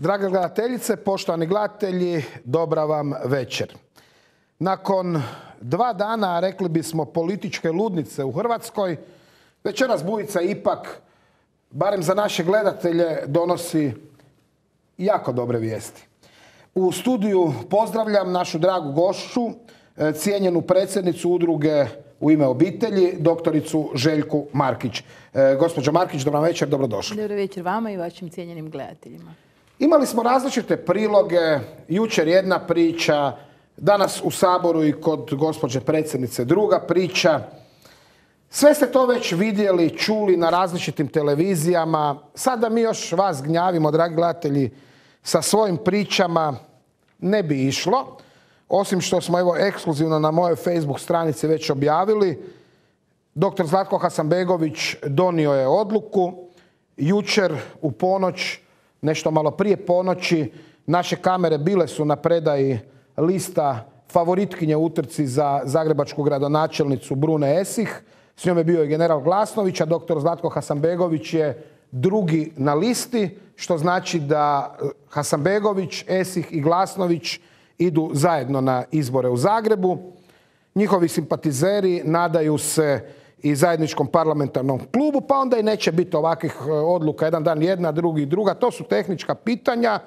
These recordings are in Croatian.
Drage gledateljice, poštovani gledatelji, dobra vam večer. Nakon 2 dana, rekli bismo, političke ludnice u Hrvatskoj, večeras Bujica ipak, barem za naše gledatelje, donosi jako dobre vijesti. U studiju pozdravljam našu dragu gošću, cijenjenu predsjednicu udruge U ime obitelji, doktoricu Željku Markić. Gospođo Markić, dobro večer, dobrodošli. Dobro večer vama i vašim cijenjenim gledateljima. Imali smo različite priloge, jučer jedna priča, danas u Saboru i kod gospođe predsjednice druga priča. Sve ste to već vidjeli, čuli na različitim televizijama. Sada mi još vas gnjavimo, dragi gledatelji, sa svojim pričama ne bi išlo. Osim što smo evo ekskluzivno na mojoj Facebook stranici već objavili, dr. Zlatko Hasanbegović donio je odluku. Jučer u ponoć, nešto malo prije ponoći, naše kamere bile su na predaji lista favoritkinje u utrci za zagrebačku gradonačelnicu Brune Esih. S njom je bio i general Glasnović, a dr. Zlatko Hasanbegović je drugi na listi, što znači da Hasanbegović, Esih i Glasnović idu zajedno na izbore u Zagrebu. Njihovi simpatizeri nadaju se i zajedničkom parlamentarnom klubu, pa onda i neće biti ovakvih odluka, jedan dan jedna, drugi druga. To su tehnička pitanja.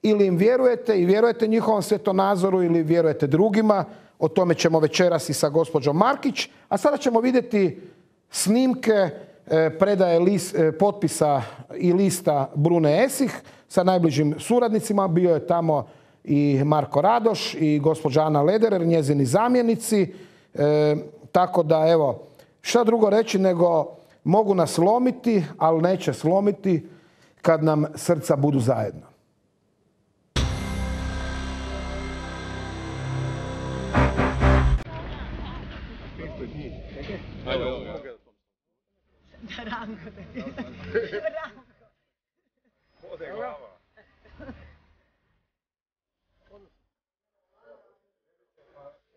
Ili im vjerujete i vjerujete njihovom svjetonazoru ili vjerujete drugima. O tome ćemo večeras i sa gospođom Markić. A sada ćemo vidjeti snimke predaje potpisa i lista Brune Esih sa najbližim suradnicima. Bio je tamo i Marko Radoš i gospođa Ana Lederer, njezini zamjenici. Tako da, evo, šta drugo reći nego mogu nas slomiti, ali neće slomiti kad nam srca budu zajedno.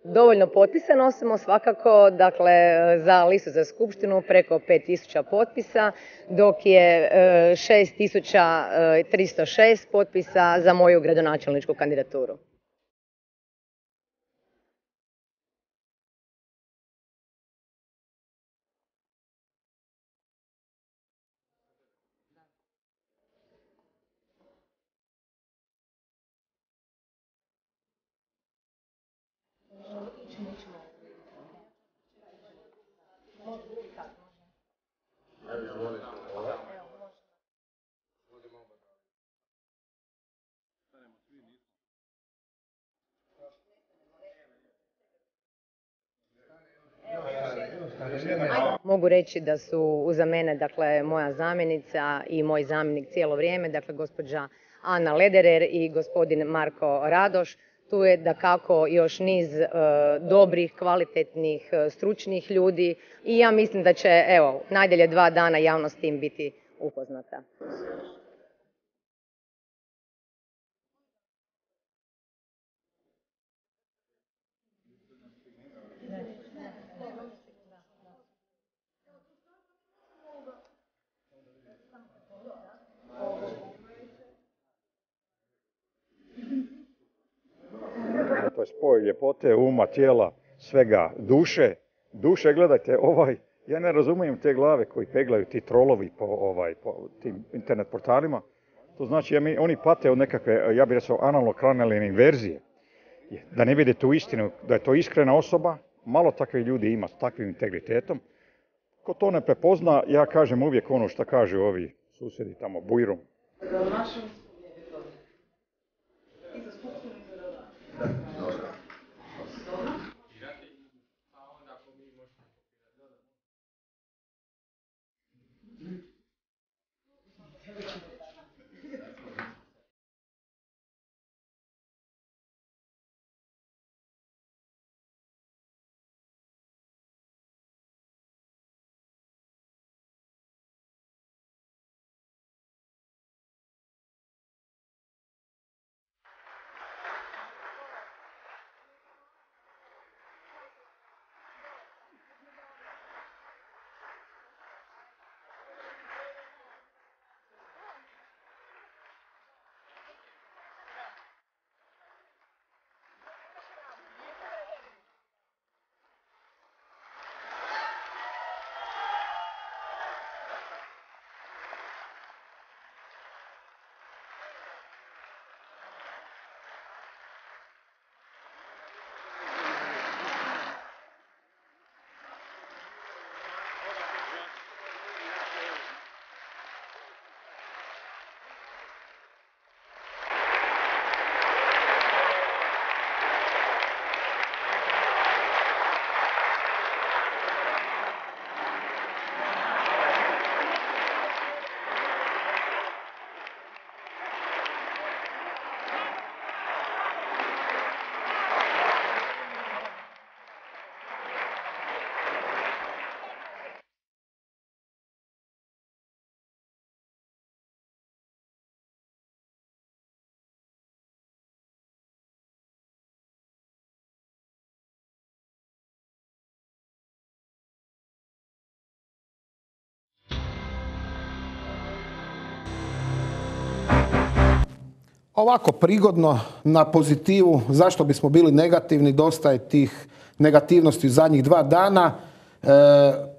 Dovoljno potpisa nosimo svakako, dakle, za listu za skupštinu preko 5000 potpisa, dok je 6306 potpisa za moju gradonačelničku kandidaturu. Mogu reći da su uza mene, dakle, moja zamjenica i moj zamjenik cijelo vrijeme, dakle, gospođa Ana Lederer i gospodin Marko Radoš. Tu je dakako još niz dobrih, kvalitetnih, stručnih ljudi i ja mislim da će, evo, najdalje 2 dana javnost tim biti upoznata. To je spoj ljepote, uma, tijela, svega, duše. Duše, gledajte, ja ne razumijem te glave koji peglaju ti trolovi po tim internet portalima. To znači, oni pate od nekakve, ja bih rekao, analno-kranalne inverzije. Da ne vide tu istinu, da je to iskrena osoba, malo takvih ljudi ima s takvim integritetom. Ko to ne prepozna, ja kažem uvijek ono što kažu ovi susjedi tamo, bujrum. ovako prigodno na pozitivu, zašto bismo bili negativni, dosta je tih negativnosti u zadnjih 2 dana.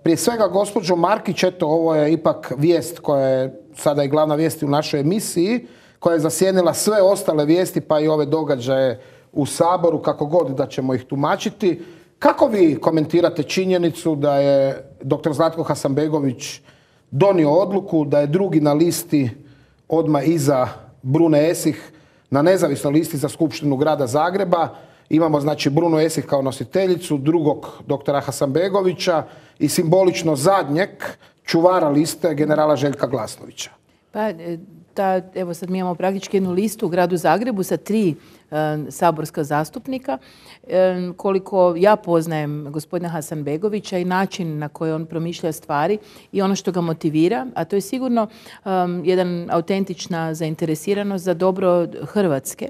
Prije svega, gospođo Markić, eto, ovo je ipak vijest koja je sada i glavna vijest u našoj emisiji, koja je zasjenila sve ostale vijesti, pa i ove događaje u Saboru, kako god da ćemo ih tumačiti. Kako vi komentirate činjenicu da je dr. Zlatko Hasanbegović donio odluku da je drugi na listi odmah iza Brune Esih na nezavisnoj listi za Skupštinu grada Zagreba? Imamo znači Brunu Esih kao nositeljicu, drugog doktora Hasanbegovića i simbolično zadnjeg čuvara liste generala Željka Glasnovića. Pa, evo sad mi imamo praktički jednu listu u gradu Zagrebu sa 3 saborska zastupnika. Koliko ja poznajem gospodina Hasanbegovića i način na koji on promišlja stvari i ono što ga motivira, a to je sigurno jedan autentična zainteresiranost za dobro Hrvatske.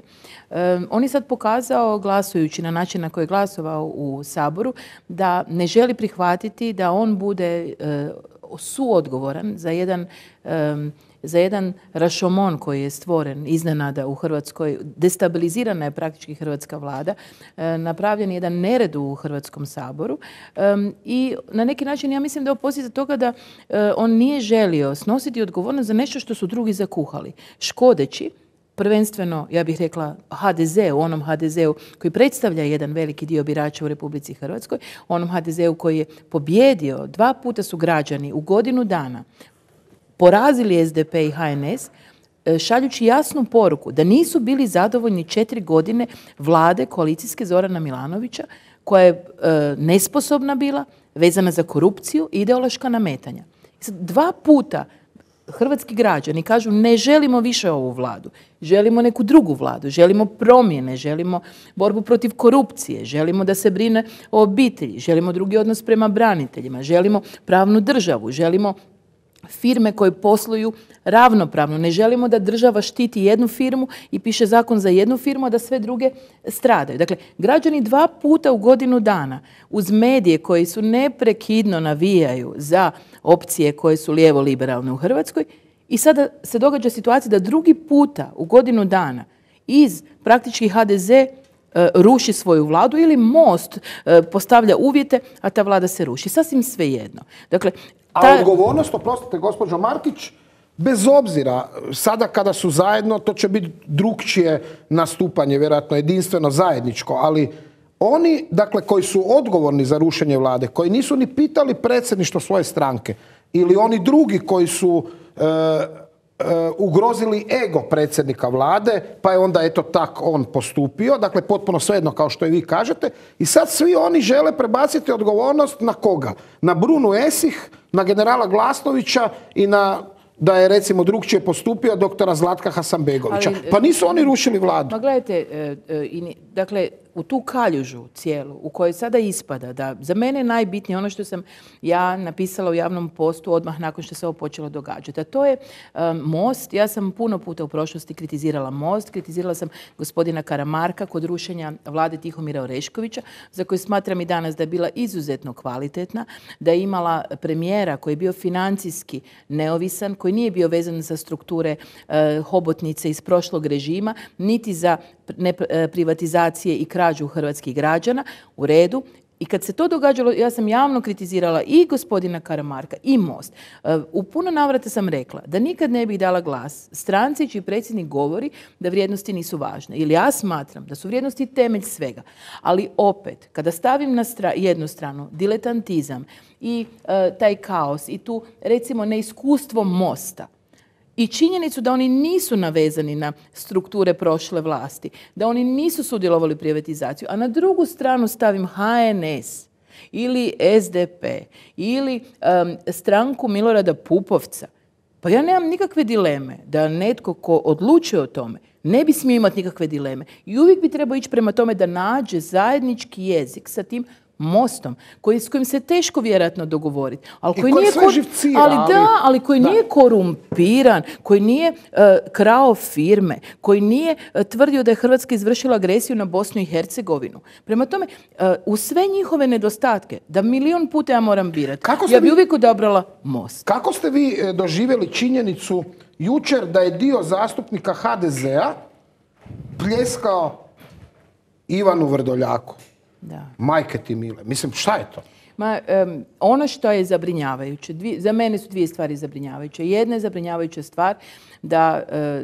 On je sad pokazao, glasujući na način na koji je glasovao u Saboru, da ne želi prihvatiti da on bude suodgovoran za jedan rašomon koji je stvoren iznenada u Hrvatskoj. Destabilizirana je praktički hrvatska vlada. Napravljen je jedan nered u Hrvatskom saboru. I na neki način ja mislim da je posljedica toga da on nije želio snositi odgovornost za nešto što su drugi zakuhali. Škodeći prvenstveno, ja bih rekla, HDZ-u, onom HDZ-u koji predstavlja jedan veliki dio birača u Republici Hrvatskoj, onom HDZ-u koji je pobjedio, 2 puta su građani u godinu dana porazili SDP i HNS, šaljući jasnu poruku da nisu bili zadovoljni 4 godine vlade koalicijske Zorana Milanovića, koja je nesposobna bila, vezana za korupciju i ideološka nametanja. 2 puta hrvatski građani kažu ne želimo više ovu vladu, želimo neku drugu vladu, želimo promjene, želimo borbu protiv korupcije, želimo da se brine o obitelji, želimo drugi odnos prema braniteljima, želimo pravnu državu, želimo firme koje posluju ravnopravno. Ne želimo da država štiti jednu firmu i piše zakon za jednu firmu, a da sve druge stradaju. Dakle, građani 2 puta u godinu dana uz medije koji su neprekidno navijaju za opcije koje su lijevo-liberalne u Hrvatskoj i sada se događa situacija da 2. puta u godinu dana iz praktički HDZ ruši svoju vladu ili Most postavlja uvjete, a ta vlada se ruši. Sasvim svejedno. Dakle, a odgovornost, oprostite gospođo Markić, bez obzira, sada kada su zajedno, to će biti drukčije nastupanje, vjerojatno jedinstveno zajedničko, ali oni, dakle, koji su odgovorni za rušenje vlade, koji nisu ni pitali predsjedništvo svoje stranke, ili oni drugi koji su ugrozili ego predsjednika vlade, pa je onda eto tak on postupio, dakle potpuno svejedno kao što i vi kažete, i sad svi oni žele prebaciti odgovornost na koga? Na Brunu Esih, na generala Glasnovića i na, da je recimo drugčije postupio, doktora Zlatka Hasanbegovića. Pa nisu oni rušili vladu. Pa gledajte, dakle, u tu kaljužu cijelu, u kojoj sada ispada da za mene je najbitnije ono što sam ja napisala u javnom postu odmah nakon što se ovo počelo događati. A to je Most. Ja sam puno puta u prošlosti kritizirala Most, kritizirala sam gospodina Karamarka kod rušenja vlade Tihomira Oreškovića, za koju smatram i danas da je bila izuzetno kvalitetna, da je imala premijera koji je bio financijski neovisan, koji nije bio vezan za strukture hobotnice iz prošlog režima, niti za privatizacije i krađu hrvatskih građana, u redu. I kad se to događalo, ja sam javno kritizirala i gospodina Karamarka i Most. U puno navrata sam rekla da nikad ne bih dala glas stranci čiji predsjednik govori da vrijednosti nisu važne. Ili ja smatram da su vrijednosti temelj svega. Ali opet, kada stavim na jednu stranu diletantizam i taj kaos i tu recimo neiskustvo Mosta, i činjenicu da oni nisu navezani na strukture prošle vlasti, da oni nisu sudjelovali u privatizaciju, a na drugu stranu stavim HNS ili SDP ili stranku Milorada Pupovca, pa ja nemam nikakve dileme da netko ko odlučuje o tome ne bi smio imati nikakve dileme. I uvijek bi trebao ići prema tome da nađe zajednički jezik sa tim Mostom, s kojim se teško vjerojatno dogovoriti. Ali koji nije ali koji nije korumpiran, koji nije krao firme, koji nije tvrdio da je Hrvatska izvršila agresiju na Bosnu i Hercegovinu. Prema tome, u sve njihove nedostatke, da 1.000.000 puta ja moram birati, ja bi uvijek odabrala Most. Kako ste vi doživjeli činjenicu jučer da je dio zastupnika HDZ-a pljeskao Ivanu Vrdoljaku. Da. Majke ti mile. Mislim, šta je to? Ono što je zabrinjavajuće, za mene su dvije stvari zabrinjavajuće. Jedna je zabrinjavajuća stvar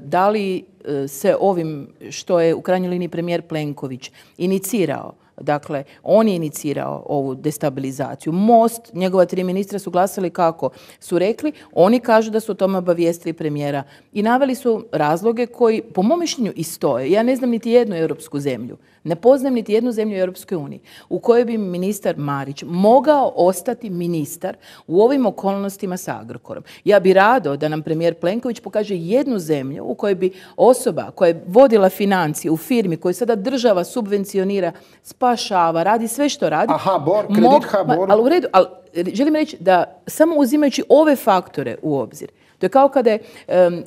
da li se ovim što je u krajnjoj liniji premijer Plenković inicirao, dakle, on je inicirao ovu destabilizaciju. Most, njegova 3 ministra su glasali kako su rekli. Oni kažu da su o tome obavijestili premijera i naveli su razloge koji, po mom mišljenju, i stoje. Ja ne znam niti jednu europsku zemlju, ne poznajem niti jednu zemlju u Europskoj uniji u kojoj bi ministar Marić mogao ostati ministar u ovim okolnostima sa Agrokorom. Ja bi rado da nam premijer Plenković pokaže jednu zemlju u kojoj bi osoba koja je vodila financije u firmi koju sada država subvencionira, spašava, radi sve što radi. A HBOR, kredit HBOR. Ali u redu, ali želim reći da samo uzimajući ove faktore u obzir, to je kao kada je,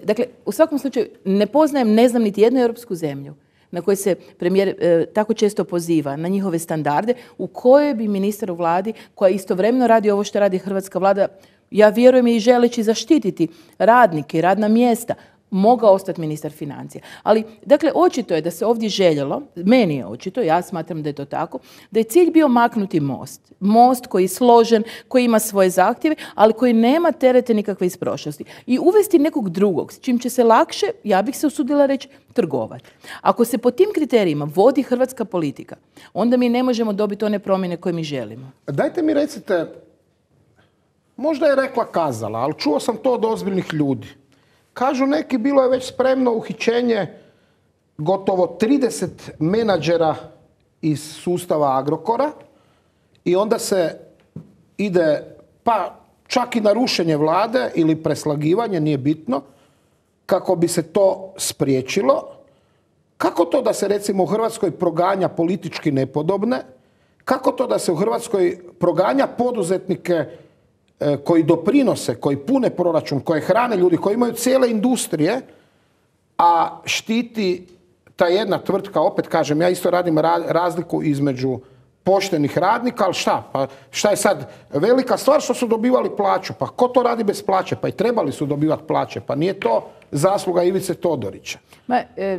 dakle, u svakom slučaju ne poznajem, ne znam niti jednu europsku zemlju na kojoj se premijer tako često poziva, na njihove standarde, u kojoj bi ministar u vladi, koja istovremeno radi ovo što radi hrvatska vlada, ja vjerujem i želeći zaštititi radnike i radna mjesta, mogao ostati ministar financija. Ali, dakle, očito je da se ovdje željelo, meni je očito, ja smatram da je to tako, da je cilj bio maknuti most. Most koji je složen, koji ima svoje zahtjeve, ali koji nema terete nikakve iz prošlosti. I uvesti nekog drugog, s čim će se lakše, ja bih se usudila reći, trgovati. Ako se po tim kriterijima vodi hrvatska politika, onda mi ne možemo dobiti one promjene koje mi želimo. Dajte mi recite, možda je rekla kazala, ali čuo sam to od ozbiljnih ljudi. Kažu neki, bilo je već spremno uhićenje gotovo 30 menadžera iz sustava Agrokora i onda se ide pa čak i na rušenje vlade ili preslagivanje, nije bitno, kako bi se to spriječilo. Kako to da se recimo u Hrvatskoj proganja politički nepodobne? Kako to da se u Hrvatskoj proganja poduzetnike koji doprinose, koji pune proračun, koje hrane ljudi, koji imaju cijele industrije, a štiti ta jedna tvrtka, opet kažem, ja isto radim razliku između poštenih radnika, ali šta? Pa šta je sad velika stvar što su dobivali plaću? Pa ko to radi bez plaće? Pa i trebali su dobivati plaće, pa nije to zasluga Ivice Todorića.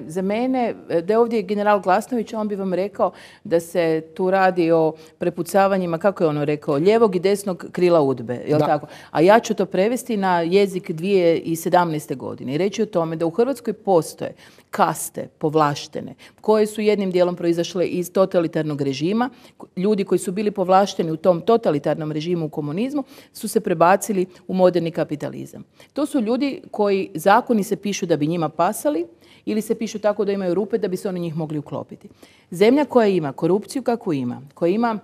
Za mene, da je ovdje general Glasnović, on bi vam rekao da se tu radi o prepucavanjima, kako je ono rekao, lijevog i desnog krila UDBE, je li tako? A ja ću to prevesti na jezik 2017. godine i reći o tome da u Hrvatskoj postoje kaste povlaštene, koje su jednim dijelom proizašle iz totalitarnog režima. Ljudi koji su bili povlašteni u tom totalitarnom režimu u komunizmu su se prebacili u moderni kapitalizam. To su ljudi koji zakoni se pišu da bi njima pasali ili se pišu tako da imaju rupe da bi se oni njih mogli uklopiti. Zemlja koja ima korupciju kakvu ima, koja ima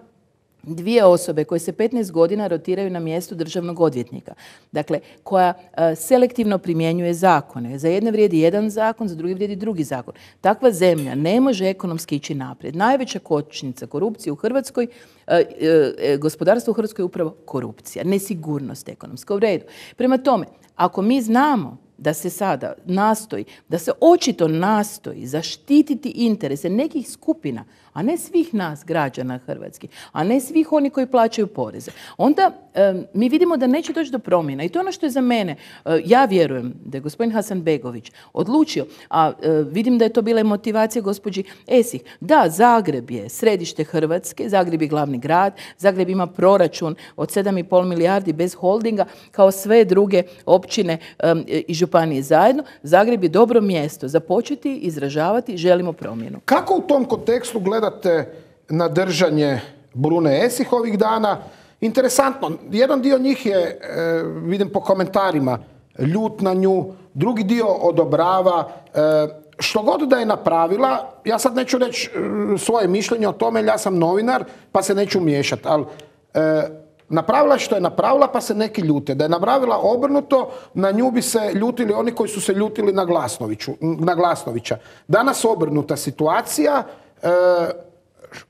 2 osobe koje se 15 godina rotiraju na mjestu državnog odvjetnika, dakle, koja selektivno primjenjuje zakone. Za jedne vrijedi jedan zakon, za drugi vrijedi drugi zakon. Takva zemlja ne može ekonomski ići naprijed. Najveća kočnica korupcije u Hrvatskoj, gospodarstvo u Hrvatskoj je upravo korupcija, nesigurnost ekonomska. U redu. Prema tome, ako mi znamo da se sada nastoji, da se očito nastoji zaštititi interese nekih skupina, a ne svih nas građana hrvatskih, a ne svih oni koji plaćaju poreze, onda mi vidimo da neće doći do promjena. I to je ono što je za mene. Ja vjerujem da je gospodin Hasanbegović odlučio, a vidim da je to bila i motivacija gospođi Esih, da Zagreb je središte Hrvatske, Zagreb je glavni grad, Zagreb ima proračun od 7,5 milijardi bez holdinga, kao sve druge općine i županije zajedno. Zagreb je dobro mjesto za početi izražavati želimo promjenu. Kako u tom kontekstu gledate na držanje Brune Esih ovih dana? Interesantno, jedan dio njih je, vidim po komentarima, ljut na nju, drugi dio odobrava. Što god da je napravila, ja sad neću reći svoje mišljenje o tome, jer ja sam novinar, pa se neću miješati, ali napravila što je napravila, pa se neki ljute. Da je napravila obrnuto, na nju bi se ljutili oni koji su se ljutili na Glasnovića. Danas obrnuta situacija.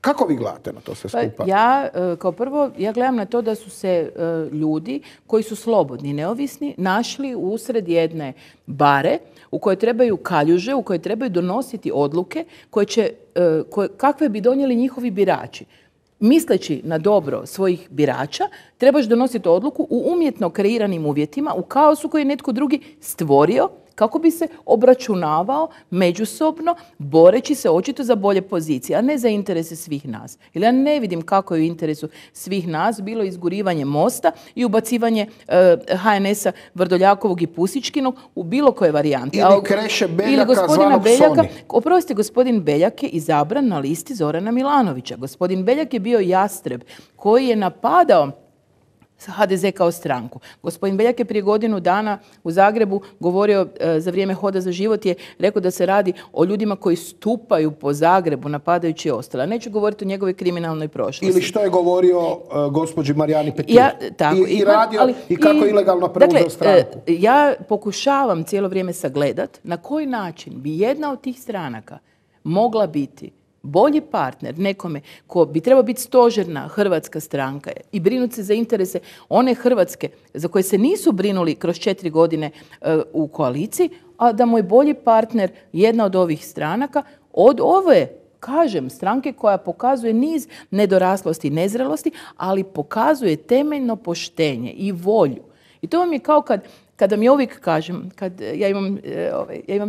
Kako vi gledate na to sve skupa? Ja, kao prvo, ja gledam na to da su se ljudi koji su slobodni, neovisni, našli usred jedne bare u kojoj trebaju kaljuže, u kojoj trebaju donositi odluke kakve bi donijeli njihovi birači. Misleći na dobro svojih birača, trebaš donositi odluku u umjetno kreiranim uvjetima, u kaosu koji je netko drugi stvorio kako bi se obračunavao međusobno, boreći se očito za bolje pozicije, a ne za interese svih nas. Jer ja ne vidim kako je u interesu svih nas bilo izgurivanje Mosta i ubacivanje HNS-a Vrdoljakovog i Pusičkinog u bilo koje varijanti. Ili Kreše Beljaka zvanog Soni. Oprostite, gospodin Beljak je izabran na listi Zorana Milanovića. Gospodin Beljak je bio jastreb koji je napadao HDZ kao stranku. Gospodin Beljak je prije godinu dana u Zagrebu govorio za vrijeme Hoda za život, je rekao da se radi o ljudima koji stupaju po Zagrebu napadajući ostale. Neću govoriti o njegovoj kriminalnoj prošlosti. Ili što je govorio gospođi Marijani Petir. I kako ilegalno preuzeo stranku. Ja pokušavam cijelo vrijeme sagledat na koji način bi jedna od tih stranaka mogla biti bolji partner nekome ko bi trebao biti stožerna hrvatska stranka i brinuti se za interese one Hrvatske za koje se nisu brinuli kroz 4 godine u koaliciji, a da mu je bolji partner jedna od ovih stranaka od ove, kažem, stranke koja pokazuje niz nedoraslosti i nezrelosti, ali pokazuje temeljno poštenje i volju. I to vam je kao kada mi uvijek kažem, ja imam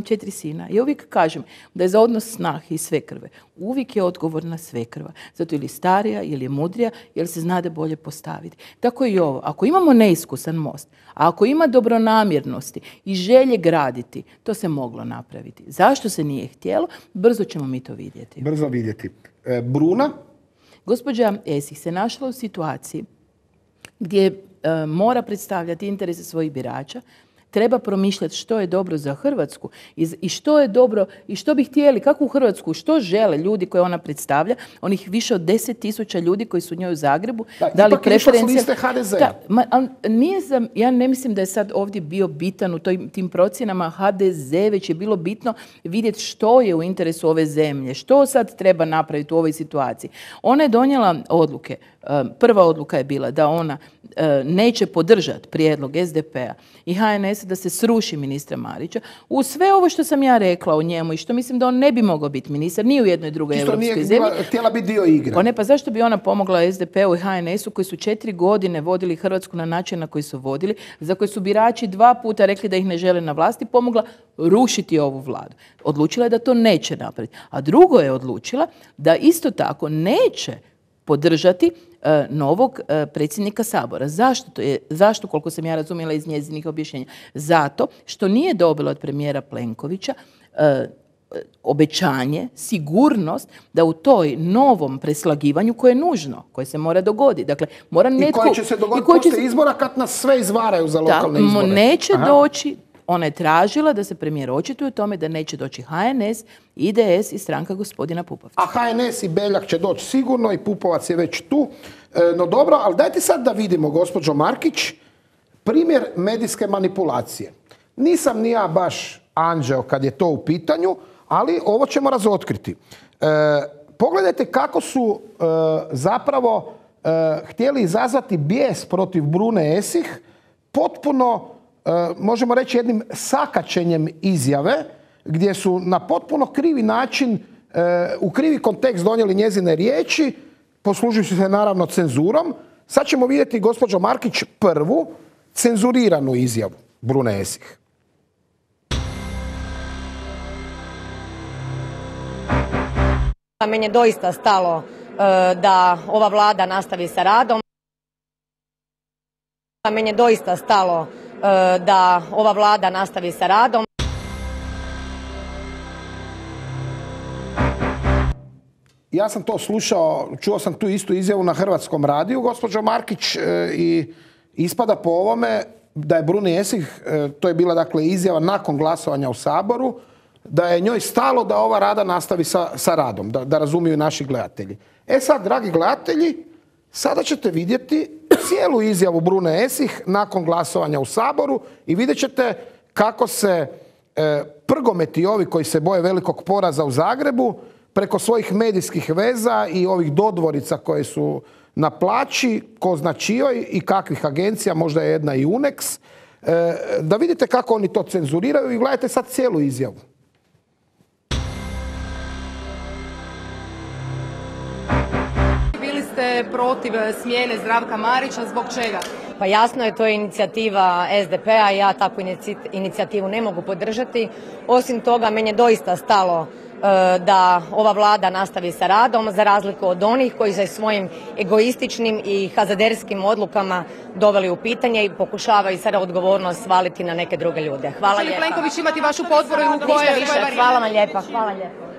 4 sina, ja uvijek kažem da je za odnos snahe i svekrve uvijek je odgovorna svekrva. Zato ili starija, ili je mudrija, jer se znade bolje postaviti. Tako i ovo. Ako imamo neiskusan Most, a ako ima dobronamjernosti i želje graditi, to se moglo napraviti. Zašto se nije htjelo? Brzo ćemo mi to vidjeti. Brzo vidjeti. Bruna? Gospođa Esih se našla u situaciji gdje mora predstavljati interese svojih birača, treba promišljati što je dobro za Hrvatsku i što je dobro i što bi htjeli, kakvu Hrvatsku, što žele ljudi koje ona predstavlja, onih više od 10.000 ljudi koji su u njoj u Zagrebu, dali preferencije. Ja ne mislim da je sad ovdje bio bitan u tim procjenama HDZ, već je bilo bitno vidjeti što je u interesu ove zemlje, što sad treba napraviti u ovoj situaciji. Ona je donijela odluke. Prva odluka je bila da ona neće podržati prijedlog SDP-a i HNS da se sruši ministra Marića. U sve ovo što sam ja rekla o njemu i što mislim da on ne bi mogao biti ministar ni u jednoj drugoj europskoj zemlji. Htjela biti dio igre. Pa zašto bi ona pomogla SDP-u i HNS-u koji su 4 godine vodili Hrvatsku na način na koji su vodili, za koji su birači 2 puta rekli da ih ne žele na vlasti, pomogla rušiti ovu vladu. Odlučila je da to neće napraviti. A drugo je odlučila da isto tako neće podržati novog predsjednika Sabora. Zašto, koliko sam ja razumjela iz njezinih objašnjenja? Zato što nije dobila od premijera Plenkovića obećanje, sigurnost da u toj novom preslagivanju koje je nužno, koje se mora dogoditi. Dakle, mora netko... I koje će se dogoditi poslije izbora kad nas sve izvaraju za lokalne izbore. Neće doći. Ona je tražila da se premijer očituje o tome da neće doći HNS, IDS i stranka gospodina Pupovca. A HNS i Beljak će doći sigurno i Pupovac je već tu. No dobro, ali dajte sad da vidimo, gospođo Markić, primjer medijske manipulacije. Nisam ni ja baš anđeo kad je to u pitanju, ali ovo ćemo razotkriti. Pogledajte kako su zapravo htjeli izazvati bijes protiv Brune Esih, potpuno možemo reći jednim sakaćenjem izjave gdje su na potpuno krivi način, u krivi kontekst donijeli njezine riječi, poslužujući se naravno cenzurom. Sad ćemo vidjeti, gospođo Markić, prvu cenzuriranu izjavu Brune Esih. Meni je doista stalo da ova vlada nastavi sa radom. Meni je doista stalo da ova vlada nastavi sa radom. Ja sam to slušao, čuo sam tu istu izjavu na Hrvatskom radiju, gospođo Markić, i ispada po ovome da je Bruni Esih, to je bila dakle izjava nakon glasovanja u Saboru, da je njoj stalo da ova Rada nastavi sa radom, da razumiju naši gledatelji. E sad, dragi gledatelji, sada ćete vidjeti cijelu izjavu Brune Esih nakon glasovanja u Saboru i vidjet ćete kako se prgometi ovi koji se boje velikog poraza u Zagrebu preko svojih medijskih veza i ovih dodvorica koje su na plaći, ko zna čijoj i kakvih agencija, možda je jedna i Unex, da vidite kako oni to cenzuriraju i gledajte sad cijelu izjavu. ste protiv smjene Zdravka Marića, zbog čega? Pa jasno je, to je inicijativa SDP-a i ja takvu inicijativu ne mogu podržati. Osim toga, meni je doista stalo da ova vlada nastavi sa radom, za razliku od onih koji se svojim egoističnim i hazaderskim odlukama doveli u pitanje i pokušavaju sada odgovornost svaliti na neke druge ljude. Hvala lijepa. Hoće li Plenković imati vašu potporu u kojoj više? Hvala vam lijepa. Hvala lijepa.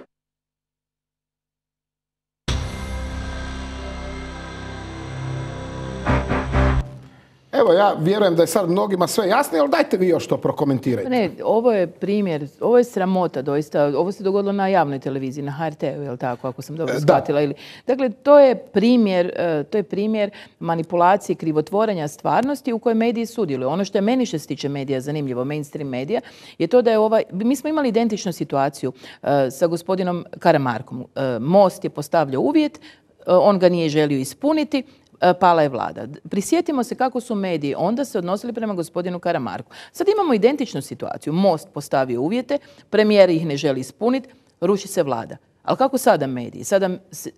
Evo, ja vjerujem da je sad mnogima sve jasno, ali dajte vi još to prokomentirajte. Ne, ovo je primjer, ovo je sramota doista. Ovo se dogodilo na javnoj televiziji, na HRT-u, je li tako, ako sam dobro shvatila? Dakle, to je primjer manipulacije, krivotvorenja stvarnosti u kojoj mediji sudjeluju. Ono što je meni što se tiče medija zanimljivo, mainstream medija, je to da je mi smo imali identičnu situaciju sa gospodinom Karamarkom. Most je postavljao uvjet, on ga nije želio ispuniti, pala je vlada. Prisjetimo se kako su mediji onda se odnosili prema gospodinu Karamarku. Sad imamo identičnu situaciju. Most postavio uvjete, premijer ih ne želi ispuniti, ruši se vlada. Ali kako sada mediji? Sada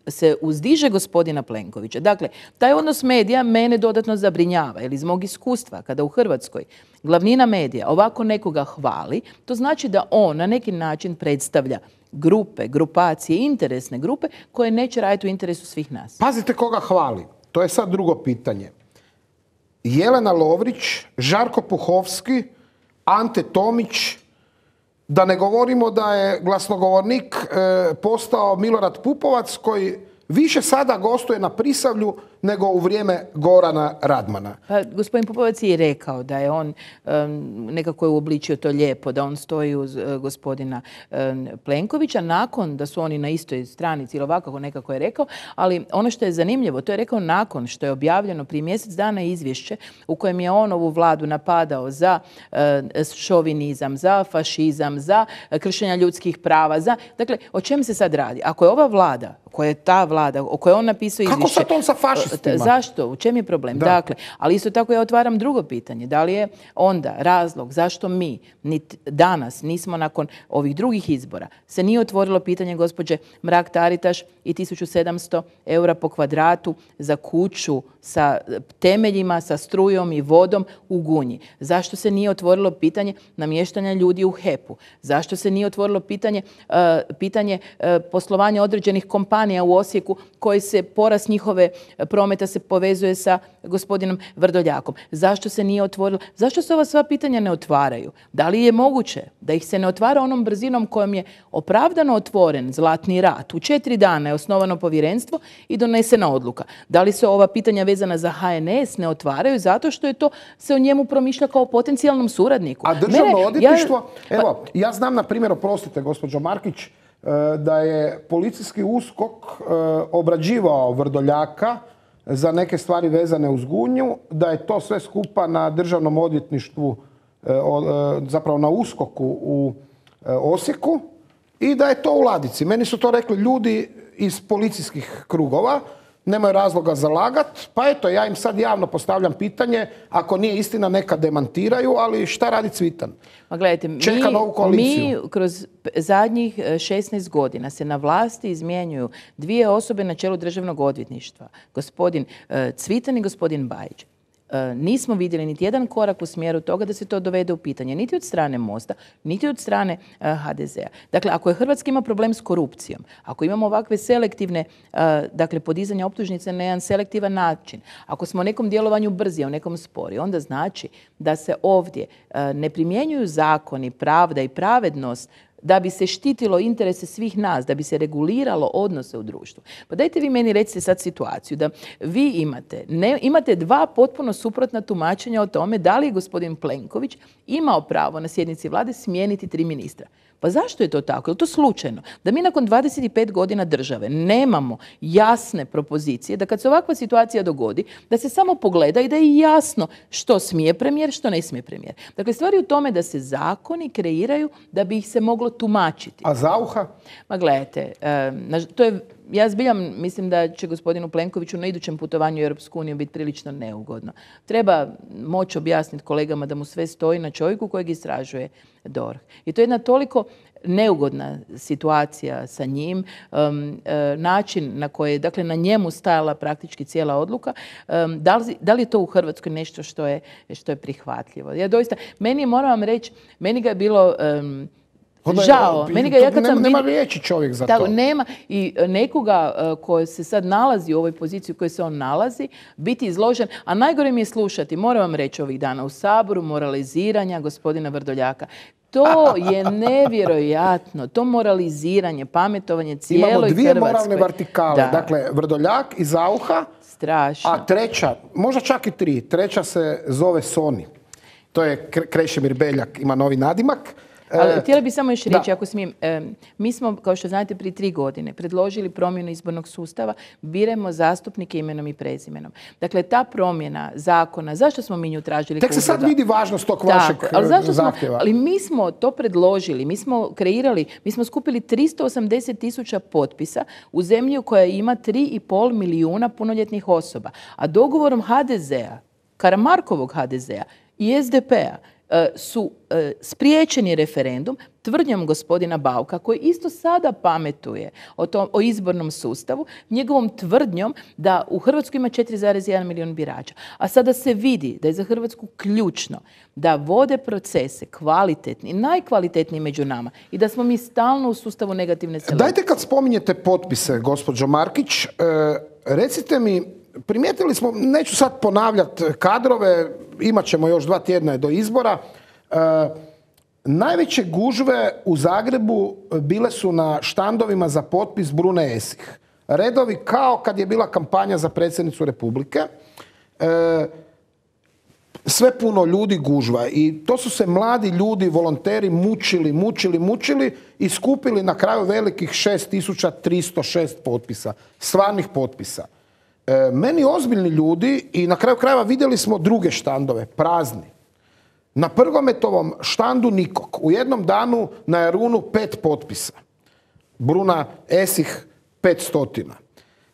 se uzdiže gospodina Plenkovića. Dakle, taj odnos medija mene dodatno zabrinjava, jer iz mog iskustva, kada u Hrvatskoj glavnina medija ovako nekoga hvali, to znači da on na neki način predstavlja grupe, grupacije, interesne grupe koje neće raditi u interesu svih nas. Pazite koga hvali. To je sad drugo pitanje. Jelena Lovrić, Žarko Puhovski, Ante Tomić, da ne govorimo da je glasnogovornik postao Milorad Pupovac koji više sada gostuje na Prisavlju nego u vrijeme Gorana Radmana. Pa, gospodin Pupovac je rekao da je on nekako je uobličio to lijepo, da on stoji uz gospodina Plenkovića nakon da su oni na istoj stranici ili ovako nekako je rekao, ali ono što je zanimljivo, to je rekao nakon što je objavljeno prije mjesec dana izvješće u kojem je on ovu vladu napadao za šovinizam, za fašizam, za kršenja ljudskih prava. Dakle, o čem se sad radi? Ako je ova vlada, koja je ta vlada, o kojoj on napisao izvješće... Kako sad on sa fašistima? Zašto? U čem je problem? Da. Dakle, ali isto tako ja otvaram drugo pitanje. Da li je onda razlog zašto mi danas nismo nakon ovih drugih izbora se nije otvorilo pitanje gospođe Mrak-Taritaš i 1700 eura po kvadratu za kuću sa temeljima, sa strujom i vodom u Gunji? Zašto se nije otvorilo pitanje namještanja ljudi u HEP-u? Zašto se nije otvorilo pitanje poslovanja određenih kompanija u Osijeku koji se porast njihove prometa se povezuje sa gospodinom Vrdoljakom? Zašto se nije otvorilo? Zašto se ova sva pitanja ne otvaraju? Da li je moguće da ih se ne otvara onom brzinom kojom je opravdano otvoren Zlatni rat? U 4 dana je osnovano povjerenstvo i donesena odluka. Da li se ova pitanja vezana za HNS ne otvaraju zato što je to se o njemu promišlja kao potencijalnom suradniku? A državno odvjetništvo, evo, ja znam na primjer, oprostite gospođo Markić, da je policijski USKOK obrađivao Vrdoljaka za neke stvari vezane uz Gunju, da je to sve skupa na državnom odvjetništvu, zapravo na USKOK-u u Osijeku i da je to u ladici. Meni su to rekli ljudi iz policijskih krugova, nemaju razloga za lagat, pa eto, ja im sad javno postavljam pitanje, ako nije istina neka demantiraju, ali šta radi Cvitan? Ma gledajte, mi kroz zadnjih 16 godina se na vlasti izmjenjuju dvije osobe na čelu državnog odvjetništva, gospodin Cvitan i gospodin Bajić. Nismo vidjeli niti jedan korak u smjeru toga da se to dovede u pitanje, niti od strane Mosta, niti od strane HDZ-a. Dakle, ako je Hrvatska ima problem s korupcijom, ako imamo ovakve selektivne, dakle, podizanja optužnice na jedan selektivan način, ako smo u nekom djelovanju brzi, u nekom spori, onda znači da se ovdje ne primjenjuju zakoni, pravda i pravednost da bi se štitilo interese svih nas, da bi se reguliralo odnose u društvu. Pa dajte vi meni recite sad situaciju da vi imate dva potpuno suprotna tumačenja o tome da li je gospodin Plenković imao pravo na sjednici vlade smijeniti 3 ministra. Pa zašto je to tako? Je li to slučajno? Da mi nakon 25 godina države nemamo jasne propozicije, da kad se ovakva situacija dogodi, da se samo pogleda i da je jasno što smije premijer, što ne smije premijer. Dakle, stvar je u tome da se zakoni kreiraju da bi ih se moglo tumačiti. A Zauha? Ma gledajte, ja zbiljam mislim da će gospodinu Plenkoviću na idućem putovanju u Europsku uniju biti prilično neugodno. Treba moći objasniti kolegama da mu sve stoji na čovjeku kojeg istražuje DORH. I to je jedna toliko neugodna situacija sa njim, način na koji je, dakle, na njemu stajala praktički cijela odluka. Da li je to u Hrvatskoj nešto što je prihvatljivo? Ja doista, moram vam reći, meni ga je bilo žao. Nema riječi čovjek za to. Nema i nekoga koji se sad nalazi u ovoj poziciji u kojoj se on nalazi, biti izložen, a najgore mi je slušati, moram vam reći ovih dana u Saboru, moraliziranja gospodina Vrdoljaka. To je nevjerojatno. To moraliziranje, pametovanje cijeloj Hrvatskoj. Imamo dvije moralne vertikale. Da. Dakle, Vrdoljak i Zauha. Strašno. A treća, možda čak i tri. Treća se zove Soni. To je Krešimir Beljak, ima novi nadimak. Ali htjela bih samo još reći, ako smijem, mi smo, kao što znate, prije 3 godine predložili promjenu izbornog sustava, biramo zastupnike imenom i prezimenom. Dakle, ta promjena zakona, zašto smo mi nju tražili? Tek se sad vidi važnost tog vašeg zahtjeva. Ali mi smo to predložili, mi smo kreirali, mi smo skupili 380.000 potpisa u zemlji koja ima 3,5 milijuna punoljetnih osoba. A dogovorom HDZ-a, Karamarkovog HDZ-a i SDP-a, su spriječeni referendum tvrdnjom gospodina Bauka, koji isto sada pametuje o izbornom sustavu, njegovom tvrdnjom da u Hrvatskoj ima 4,1 milijun birača. A sada se vidi da je za Hrvatsku ključno da vode procese kvalitetni, najkvalitetniji među nama i da smo mi stalno u sustavu negativne selekcije. Dajte, kad spominjete potpise, gospođo Markić, recite mi, primijetili smo, neću sad ponavljati kadrove, imat ćemo još 2 tjedna do izbora. Najveće gužve u Zagrebu bile su na štandovima za potpis Brune Esih. Redovi kao kad je bila kampanja za predsjednicu Republike. Sve puno ljudi, gužva. I to su se mladi ljudi, volonteri mučili i skupili na kraju velikih 6.306 potpisa. Stvarnih potpisa. Meni ozbiljni ljudi, i na kraju krajeva vidjeli smo druge štandove, prazni. Na Prgometovom štandu nikog. U jednom danu na Jarunu 5 potpisa. Bruna Esih 500.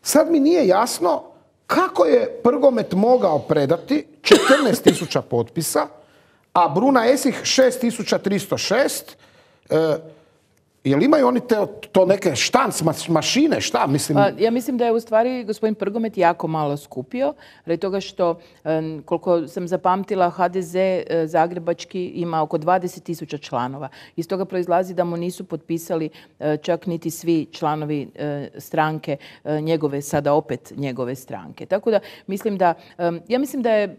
Sad mi nije jasno kako je Prgomet mogao predati 14.000 potpisa, a Bruna Esih 6.306. Jel imaju oni to neke štanc mašine, šta? Mislim... Ja mislim da je u stvari gospodin Prgomet jako malo skupio, radi toga što, koliko sam zapamtila, HDZ zagrebački ima oko 20.000 članova. Iz toga proizlazi da mu nisu potpisali čak niti svi članovi stranke njegove, sada opet njegove stranke. Tako da ja mislim da je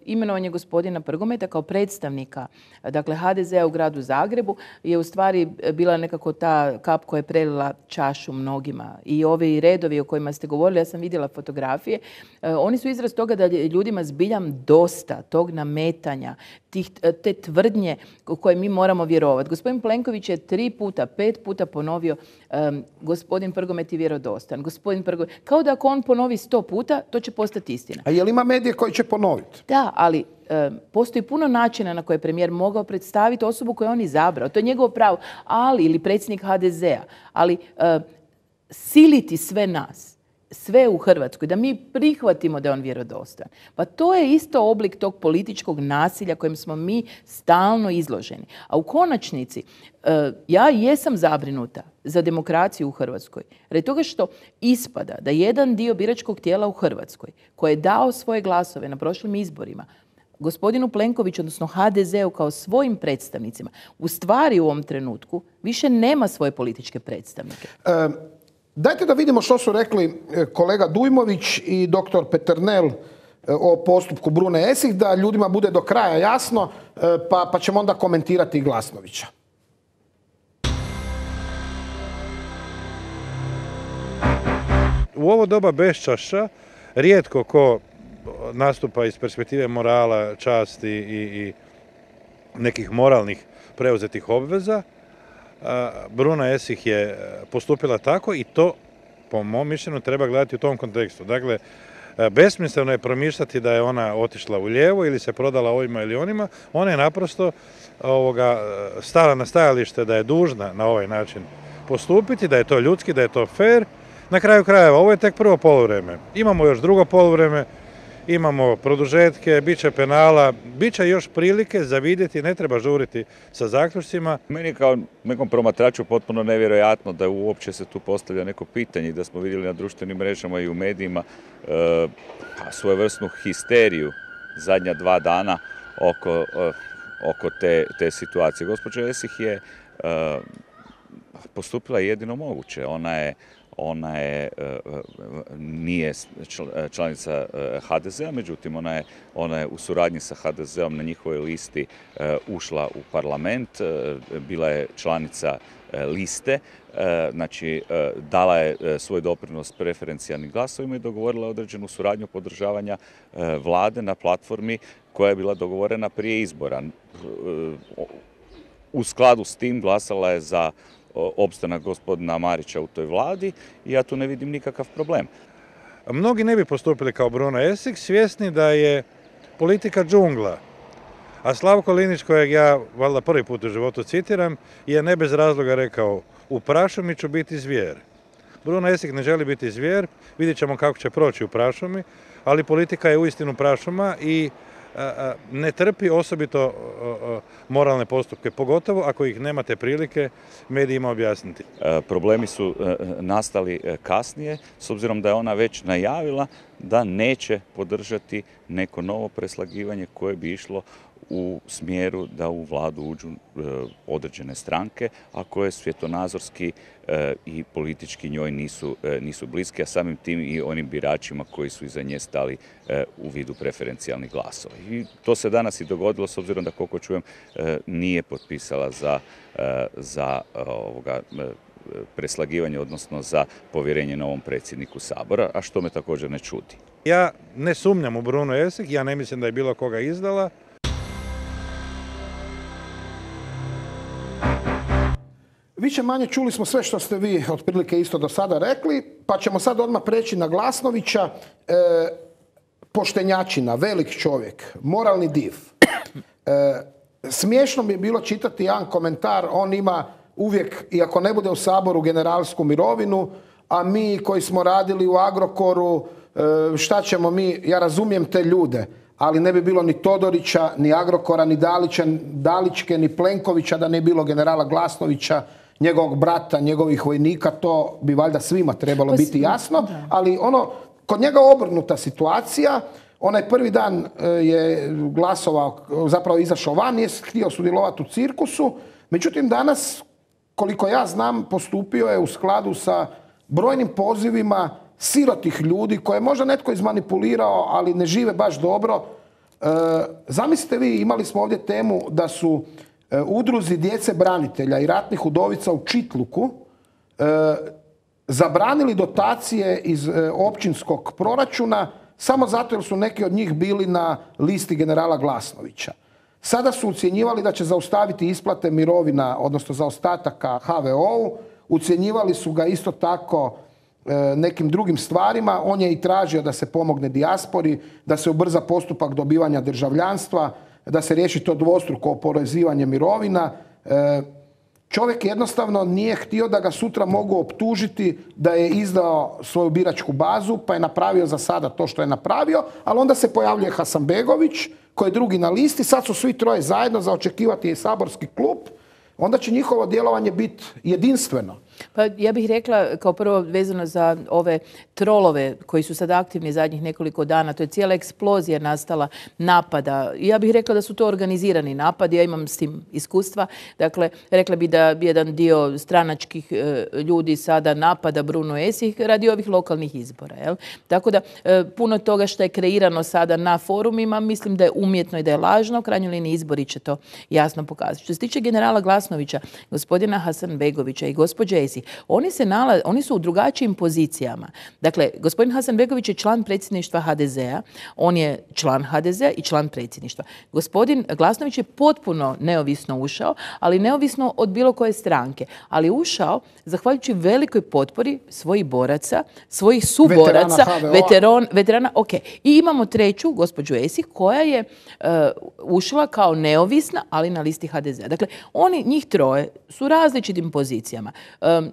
imenovanje gospodina Prgometa kao predstavnika, dakle, HDZ-a u gradu Zagrebu je u stvari bila nekako ta kap koja je prelila čašu mnogima. I ovi redovi o kojima ste govorili, ja sam vidjela fotografije, oni su izraz toga da je ljudima zbiljam dosta tog nametanja, te tvrdnje u koje mi moramo vjerovati. Gospodin Plenković je 5 puta ponovio gospodin Prgomet je vjerodostan. Kao da ako on ponovi 100 puta, to će postati istina. A je li ima medije koji će ponoviti? Da, ali postoji puno načina na koje je premijer mogao predstaviti osobu koju je on izabrao. To je njegovo pravo. Ili predsjednik HDZ-a. Ali siliti sve nas, sve u Hrvatskoj, da mi prihvatimo da je on vjerodostan. Pa to je isto oblik tog političkog nasilja kojem smo mi stalno izloženi. A u konačnici, ja jesam zabrinuta za demokraciju u Hrvatskoj. Radi toga što ispada da jedan dio biračkog tijela u Hrvatskoj, koji je dao svoje glasove na prošlim izborima, gospodinu Plenkoviću, odnosno HDZ-u kao svojim predstavnicima, u stvari u ovom trenutku više nema svoje političke predstavnike. Dajte da vidimo što su rekli kolega Dujmović i doktor Peternel o postupku Brune Esih, da ljudima bude do kraja jasno, pa ćemo onda komentirati i Glasnovića. U ovo doba beščašća rijetko ko nastupa iz perspektive morala, časti i nekih moralnih preuzetih obveza. Bruna Esih je postupila tako i to, po mom mišljenju, treba gledati u tom kontekstu. Dakle, Besmisleno je promišljati da je ona otišla u lijevo ili se prodala ovima ili onima. Ona je naprosto stala na stajalište da je dužna na ovaj način postupiti, da je to ljudski, da je to fair. Na kraju krajeva, ovo je tek prvo poluvreme. Imamo još drugo poluvreme, imamo produžetke, bit će penala, bit će još prilike za vidjeti, ne treba žuriti sa zaključcima. Meni kao nekom promatraču potpuno nevjerojatno da uopće se tu postavlja neko pitanje, da smo vidjeli na društvenim mrežama i u medijima svojevrsnu histeriju zadnja 2 dana oko te situacije. Gospođa Esih je postupila jedino moguće. Ona nije članica HDZ-a, međutim ona je u suradnji sa HDZ-om na njihovoj listi ušla u parlament, bila je članica liste, znači dala je svoj doprinos preferencijalnim glasovima i dogovorila određenu suradnju podržavanja vlade na platformi koja je bila dogovorena prije izbora. U skladu s tim glasala je za opstanak gospodina Marića u toj vladi i ja tu ne vidim nikakav problem. Mnogi ne bi postupili kao Bruno Esih, svjesni da je politika džungla. A Slavko Linić, kojeg ja valjda prvi put u životu citiram, je ne bez razloga rekao: u prašumi ću biti zvijer. Bruno Esih ne želi biti zvijer, vidjet ćemo kako će proći u prašumi, ali politika je uistinu prašuma i ne trpi osobito moralne postupke, pogotovo ako ih nemate prilike medijima objasniti. Problemi su nastali kasnije, s obzirom da je ona već najavila da neće podržati neko novo preslagivanje koje bi išlo u smjeru da u vladu uđu određene stranke, a koje svjetonazorski i politički njoj nisu bliske, a samim tim i onim biračima koji su iza nje stali u vidu preferencijalnih glasova. I to se danas i dogodilo, s obzirom da, koliko čujem, nije potpisala za preslagivanje, odnosno za povjerenje novom predsjedniku Sabora, a što me također ne čudi. Ja ne sumnjam u Bruno Esih, ja ne mislim da je bilo koga izdala. Više manje čuli smo sve što ste vi otprilike isto do sada rekli, pa ćemo sad odmah preći na Glasnovića. Poštenjačina, velik čovjek, moralni div. Smiješno mi je bilo čitati jedan komentar, on ima uvijek, iako ne bude u Saboru, generalsku mirovinu, a mi koji smo radili u Agrokoru, šta ćemo mi, ja razumijem te ljude, ali ne bi bilo ni Todorića, ni Agrokora, ni Dalićke, ni Plenkovića da ne bi bilo generala Glasnovića, njegovog brata, njegovih vojnika, to bi valjda svima trebalo biti jasno, ali kod njega obrnuta situacija. Onaj prvi dan je glasovao, zapravo izašao van, nije htio sudjelovati u cirkusu, međutim danas, koliko ja znam, postupio je u skladu sa brojnim pozivima sirotih ljudi koje možda netko izmanipulirao, ali ne žive baš dobro. Zamislite vi, imali smo ovdje temu da su udruzi djece branitelja i ratnih udovica u Čitluku zabranili dotacije iz općinskog proračuna samo zato jer su neki od njih bili na listi generala Glasnovića. Sada su ucjenjivali da će zaustaviti isplate mirovina, odnosno zaostataka HVO-u. Ucjenjivali su ga isto tako nekim drugim stvarima. On je i tražio da se pomogne dijaspori, da se ubrza postupak dobivanja državljanstva, da se riješi to dvostruko oporezivanje mirovina. Čovjek jednostavno nije htio da ga sutra mogu optužiti da je izdao svoju biračku bazu, pa je napravio za sada to što je napravio, ali onda se pojavljuje Hasanbegović, koji je drugi na listi, sad su svi troje zajedno, za očekivati je saborski klub, onda će njihovo djelovanje biti jedinstveno. Pa ja bih rekla kao prvo vezano za ove trolove koji su sad aktivni zadnjih nekoliko dana, to je cijela eksplozija nastala napada. Ja bih rekla da su to organizirani napadi, ja imam s tim iskustva. Dakle, rekla bi da jedan dio stranačkih ljudi sada napada Bruno Esih radi ovih lokalnih izbora. Jel? Tako da puno toga što je kreirano sada na forumima, mislim da je umjetno i da je lažno. U krajnjoj liniji izbori će to jasno pokazati. Što se tiče generala Glasnovića, gospodina Hasanbegovića i gospođe ESIH. Oni su u drugačijim pozicijama. Dakle, gospodin Hasanbegović je član predsjedništva HDZ-a, on je član HDZ-a i član predsjedništva. Gospodin Glasnović je potpuno neovisno ušao, ali neovisno od bilo koje stranke. Ali ušao zahvaljujući velikoj potpori svojih boraca, svojih suboraca, veterana, ok. I imamo treću, gospođu Esih, koja je ušla kao neovisna, ali na listi HDZ-a. Dakle, njih troje su u različitim pozicijama.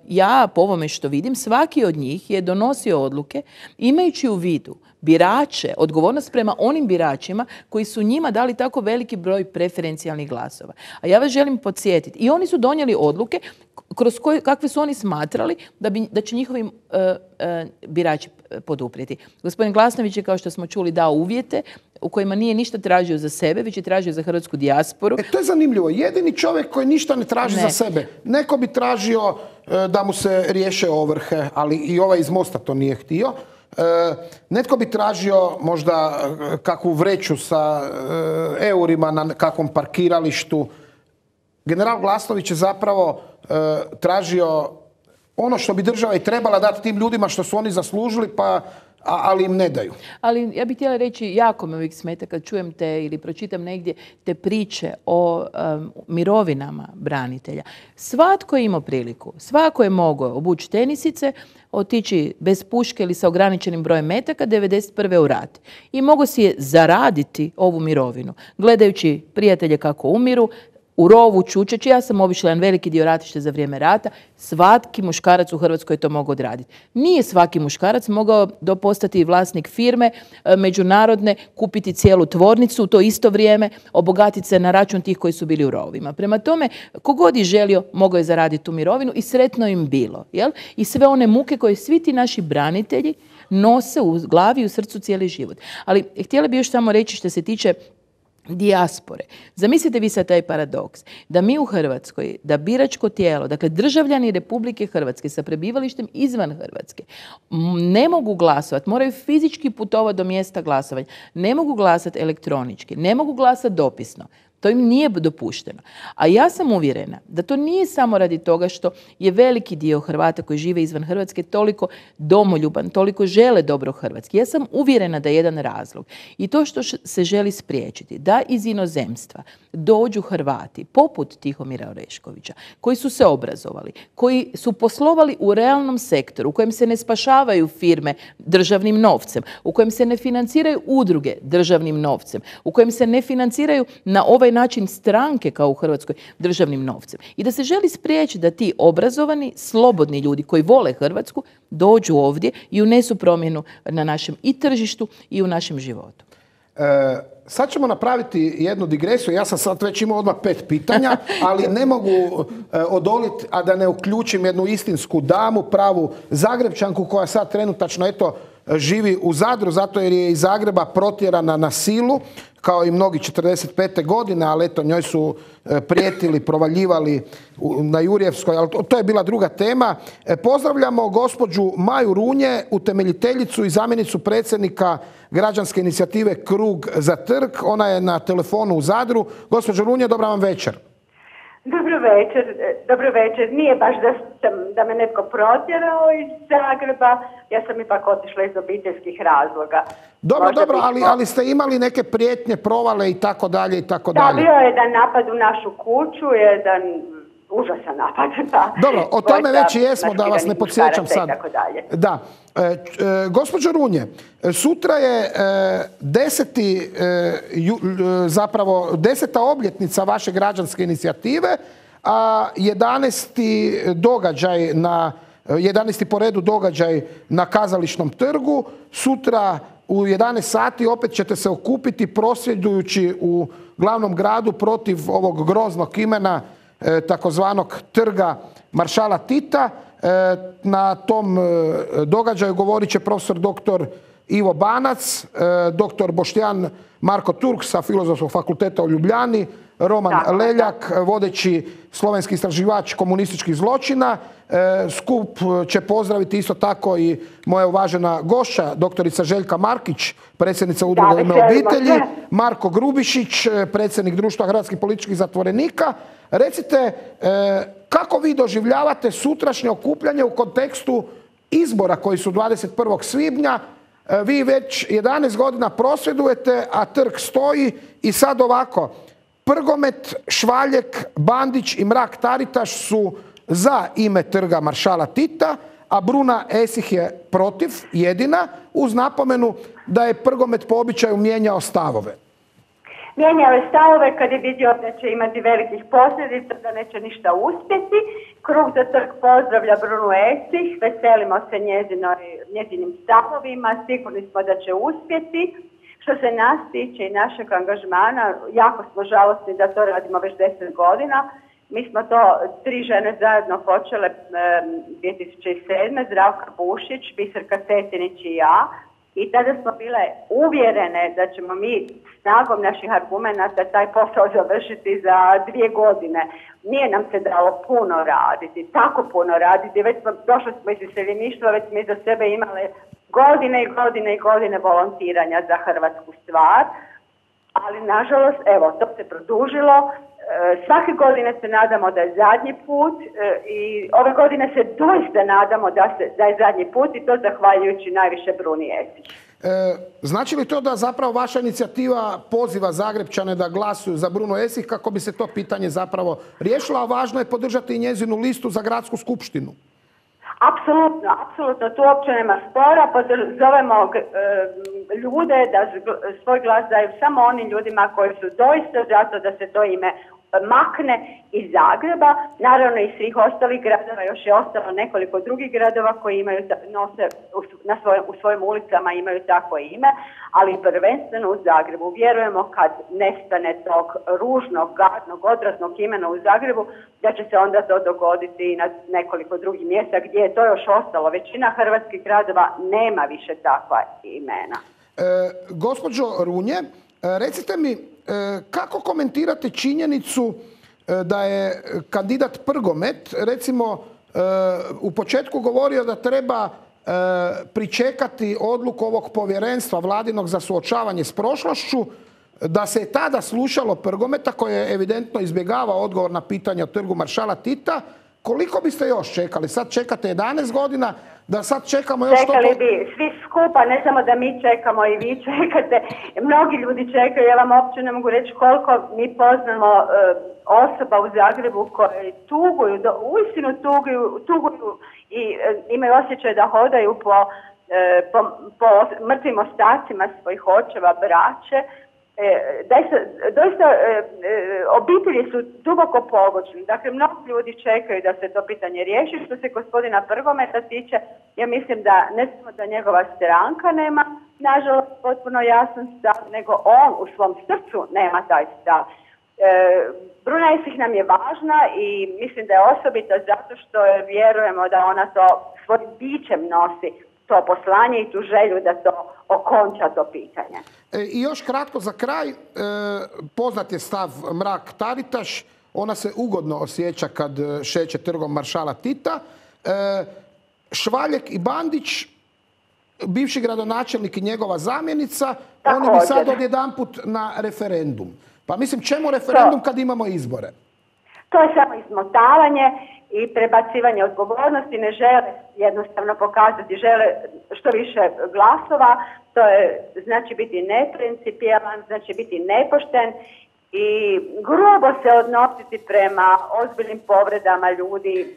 Ja, po ovome što vidim, svaki od njih je donosio odluke imajući u vidu birače, odgovornost prema onim biračima koji su njima dali tako veliki broj preferencijalnih glasova. A ja vas želim podsjetiti, i oni su donijeli odluke kroz kakve su oni smatrali da će njihovi birači poduprijeti. Gospodin Glasnović je, kao što smo čuli, dao uvjete u kojima nije ništa tražio za sebe, već je tražio za hrvatsku dijasporu. To je zanimljivo. Jedini čovjek koji ništa ne traži za sebe. Neko bi tražio da mu se riješe ovrhe, ali i ovaj iz Mosta to nije htio. Netko bi tražio možda kakvu vreću sa eurima na kakvom parkiralištu. General Glasnović je zapravo tražio ono što bi država i trebala dati tim ljudima što su oni zaslužili, ali im ne daju. Ali ja bih htjela reći, jako me uvijek smeta kad čujem te ili pročitam negdje te priče o mirovinama branitelja. Svatko je imao priliku, svako je mogao obući tenisice, otići bez puške ili sa ograničenim brojem metaka 91. u rat. I mogao si je zaraditi ovu mirovinu, gledajući prijatelje kako umiru, u rovu, čučeći. Ja sam obišla jedan veliki dio ratišta za vrijeme rata. Svaki muškarac u Hrvatskoj je to mogao odraditi. Nije svaki muškarac mogao postati vlasnik firme međunarodne, kupiti cijelu tvornicu u to isto vrijeme, obogatiti se na račun tih koji su bili u rovima. Prema tome, kogod je želio, mogao je zaraditi tu mirovinu i sretno im bilo. Jel? I sve one muke koje svi ti naši branitelji nose u glavi i u srcu cijeli život. Ali htjela bih još samo reći što se tiče dijaspore. Zamislite vi sad taj paradoks. Da mi u Hrvatskoj, da biračko tijelo, dakle državljani Republike Hrvatske sa prebivalištem izvan Hrvatske, ne mogu glasovati, moraju fizički putovati do mjesta glasovanja, ne mogu glasati elektronički, ne mogu glasati dopisno. To im nije dopušteno. A ja sam uvjerena da to nije samo radi toga što je veliki dio Hrvata koji žive izvan Hrvatske toliko domoljuban, toliko žele dobro Hrvatski. Ja sam uvjerena da je jedan razlog. I to što se želi spriječiti, da iz inozemstva dođu Hrvati, poput Tihomira Oreškovića, koji su se obrazovali, koji su poslovali u realnom sektoru, u kojem se ne spašavaju firme državnim novcem, u kojem se ne financiraju udruge državnim novcem, u kojem se ne financiraju na ovaj način stranke kao u Hrvatskoj državnim novcem. I da se želi spriječiti da ti obrazovani, slobodni ljudi koji vole Hrvatsku dođu ovdje i unesu promjenu na našem i tržištu i u našem životu. Sad ćemo napraviti jednu digresiju. Ja sam sad već imao odmah 5 pitanja, ali ne mogu odoliti, a da ne uključim jednu istinsku damu, pravu Zagrebčanku koja sad trenutačno živi u Zadru, zato jer je iz Zagreba protjerana na silu, kao i mnogi 45. godine, ali njoj su prijetili, provaljivali na Jurjevskoj, ali to je bila druga tema. Pozdravljamo gospođu Maju Runje, utemeljiteljicu i zamjenicu predsjednika građanske inicijative Krug za trg. Ona je na telefonu u Zadru. Gospođo Runje, dobra vam večer. Dobro večer. Nije baš da me netko protjerao iz Zagreba, ja sam ipak otišla iz obiteljskih razloga. Dobro, ali ste imali neke prijetnje, provale i tako dalje i tako dalje. Da, bio je jedan napad u našu kuću, jedan užasan napad. Dobro, o tome već i jesmo, da vas ne podsjećam sad. Da. Gospođo Runje, sutra je 10. obljetnica vaše građanske inicijative, a 11. po redu događaj na Kazališnom trgu. Sutra u 11 sati opet ćete se okupiti prosvjedujući u glavnom gradu protiv ovog groznog imena takozvanog trga maršala Tita. Na tom događaju govorit će profesor dr. Ivo Banac, dr. Boštjan Marko Turk sa Filozofskog fakulteta u Ljubljani, Roman Leljak, vodeći slovenski istraživač komunističkih zločina. Skup će pozdraviti isto tako i moja uvažena gošća, doktorica Željka Markić, predsjednica Udruge U ime obitelji, Marko Grubišić, predsjednik Društva hrvatskih političkih zatvorenika. Recite, kako vi doživljavate sutrašnje okupljanje u kontekstu izbora koji su 21. svibnja? Vi već 11 godina prosvjedujete, a trg stoji i sad ovako. Prgomet, Švaljek, Bandić i Mrak-Taritaš su za ime trga maršala Tita, a Bruna Esih je protiv, jedina, uz napomenu da je Prgomet po običaju mijenjao stavove. Mijenjao je stavove kad je vidio da će imati velikih posljedica, da neće ništa uspjeti. Krug za trg pozdravlja Brunu Esih, veselimo se njezinim stavovima, sigurni smo da će uspjeti. Što se nas tiče i našeg angažmana, jako smo žalosni da to radimo već 10 godina. Mi smo to 3 žene zajedno počele 2007. Zdravka Bušić, Biserka Cetinić i ja. I tada smo bile uvjerene da ćemo mi snagom naših argumenata taj posao završiti za 2 godine. Nije nam se dalo puno raditi, tako puno raditi. Već smo, došli smo iz iseljeništva, već smo iza sebe imale godine i godine i godine volontiranja za hrvatsku stvar. Ali nažalost, evo, to se produžilo. Svake godine se nadamo da je zadnji put i ove godine se doista nadamo da je zadnji put i to zahvaljujući najviše Bruni Esih. Znači li to da zapravo vaša inicijativa poziva Zagrepčane da glasuju za Brunu Esih kako bi se to pitanje zapravo riješilo, a važno je podržati i njezinu listu za gradsku skupštinu? Apsolutno, tu uopće nema spora. Zovemo ljude da svoj glas daju samo onim ljudima koji su doista zato da se to ime makne iz Zagreba, naravno i svih ostalih gradova, još je ostalo nekoliko drugih gradova koji imaju, nose u svojim ulicama imaju takvo ime, ali prvenstveno u Zagrebu. Vjerujemo kad nestane tog ružnog, gadnog, odvratnog imena u Zagrebu, da će se onda to dogoditi i na nekoliko drugih mjesta gdje je to još ostalo. Većina hrvatskih gradova nema više takva imena. Gospođo Runje, recite mi, kako komentirate činjenicu da je kandidat Prgomet, recimo, u početku govorio da treba pričekati odluku ovog povjerenstva vladinog za suočavanje s prošlošću, da se je tada slušalo Prgometa koji je evidentno izbjegavao odgovor na pitanje o trgu maršala Tita. Koliko biste još čekali? Sad čekate 11 godina, da sad čekamo još... Čekali bi svi skupa, ne samo da mi čekamo i vi čekate. Mnogi ljudi čekaju, ja vam uopće ne mogu reći koliko mi poznamo osoba u Zagrebu koje tuguju, uistinu tuguju i imaju osjećaj da hodaju po mrtvim ostacima svojih očeva, braće. Doista obitelji su duboko pogođeni. Dakle, mnogi ljudi čekaju da se to pitanje riješi. Što se gospodina Prgometa tiče, ja mislim da ne samo da njegova stranka nema, nažalost, potpuno jasan stav, nego on u svom srcu nema taj stav. Bruna Esih nam je važna i mislim da je osobito zato što vjerujemo da ona to svojim bićem nosi, to poslanje i tu želju da to okonča to pitanje. I još kratko za kraj, poznat je stav Mrak-Taritaš, ona se ugodno osjeća kad šeće trgom maršala Tita. Švaljek i Bandić, bivši gradonačelnik i njegova zamjenica, oni bi sad odjedanput na referendum. Pa mislim, čemu referendum kad imamo izbore? To je samo izmotavanje i prebacivanje odgovornosti, ne žele jednostavno pokazati, žele što više glasova, to je znači biti neprincipijalan, znači biti nepošten i grubo se odnositi prema ozbiljnim povredama ljudi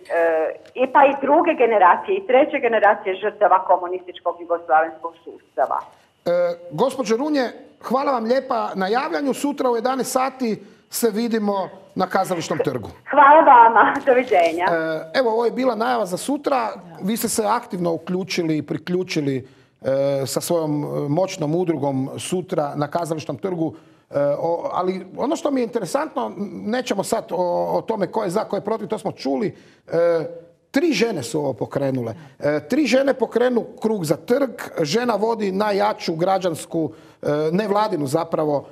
i pa i druge generacije i treće generacije žrtava komunističkog jugoslavenskog sustava. Gospođo Runje, hvala vam lijepa na javljanju. Sutra u 11 sati se vidimo na Kazališnom trgu. Hvala vama, doviđenja. Evo, ovo je bila najava za sutra. Vi ste se aktivno uključili i priključili sa svojom moćnom udrugom sutra na Kazališnom trgu. Ali ono što mi je interesantno, nećemo sad o tome ko je za, ko je protiv, to smo čuli. 3 žene su ovo pokrenule. 3 žene pokrenu krug za trg. Žena vodi najjaču građansku, nevladinu zapravo,